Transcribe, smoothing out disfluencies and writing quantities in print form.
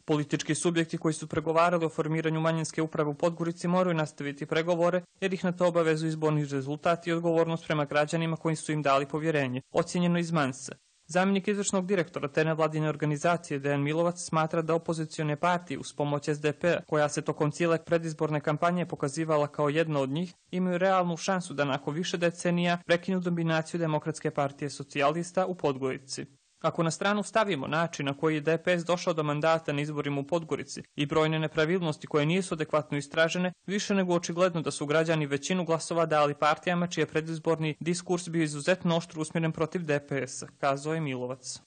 Politički subjekti koji su pregovarali o formiranju manjinske uprave u Podgorici moraju nastaviti pregovore jer ih na to obavezuju izborni rezultati i odgovornost prema građanima koji su im dali povjerenje, ocjenjeno iz Mansa. Zamjenik izvršnog direktora te nevladine organizacije Dejan Milovac smatra da opozicione partije uz pomoć SDP-a, koja se tokom cijele predizborne kampanje pokazivala kao jedna od njih, imaju realnu šansu da nakon više decenija prekinu dominaciju Demokratske partije socijalista u Podgorici. Ako na stranu stavimo način na koji je DPS došao do mandata na izborima u Podgorici i brojne nepravilnosti koje nisu adekvatno istražene, više nego očigledno da su građani većinu glasova dali partijama čiji je predizborni diskurs bio izuzetno oštro usmjeren protiv DPS-a, kazao je Milovac.